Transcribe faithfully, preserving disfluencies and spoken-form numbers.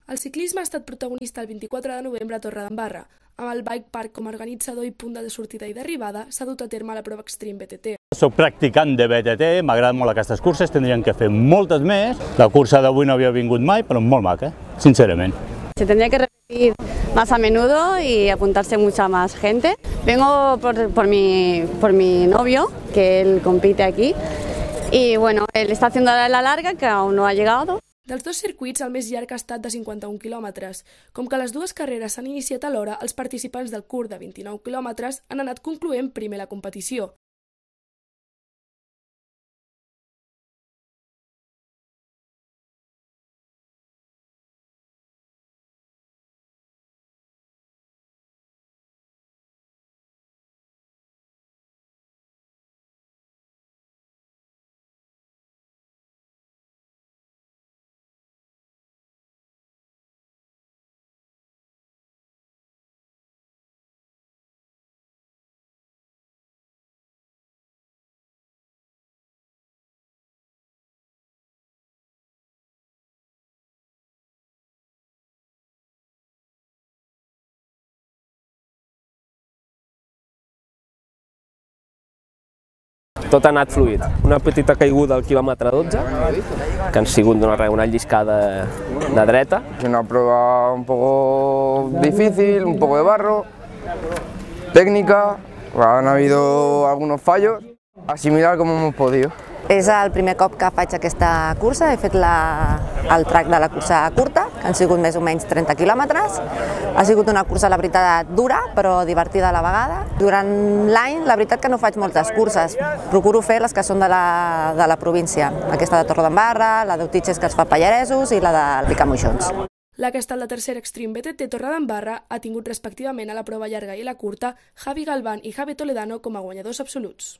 El ciclisme ha estat protagonista el vint-i-quatre de novembre a Torredembarra. Amb el Bike Park com a organitzador i punt de sortida i d'arribada, s'ha dut a terme la prova Extreme B T T. Soc practicant de B T T, m'agraden molt aquestes curses, tindríem que fer moltes més. La cursa d'avui no havia vingut mai, però molt maca, sincerament. Se tendría que repetir más a menudo y apuntarse mucha más gente. Vengo por, por, mi, por mi novio, que él compite aquí, y bueno, él está haciendo la larga, que aún no ha llegado. Dels dos circuits, el més llarg ha estat de cinquanta-un quilòmetres. Com que les dues carreres s'han iniciat alhora, els participants del curt de vint-i-nou quilòmetres han anat concloent primer la competició. Tot ha anat fluid. Una petita caiguda al quilòmetre dotze, que han sigut una, una lliscada de dreta. Es una prueba un poco difícil, un poco de barro, técnica, han habido algunos fallos, asimilar como hemos podido. És el primer cop que faig aquesta cursa, he fet la, el track de la cursa curta, que han sigut més o menys trenta quilòmetres. Ha sigut una cursa, la veritat, dura, però divertida a la vegada. Durant l'any, la veritat que no faig moltes curses, procuro fer les que són de la, de la província. Aquesta de Torredembarra, la d'Utitxes que es fa a Pallaresos i la de Picamoixons. La que ha estat la tercera Extreme B T T Torredembarra ha tingut respectivament a la prova llarga i la curta Javi Galván i Javi Toledano com a guanyadors absoluts.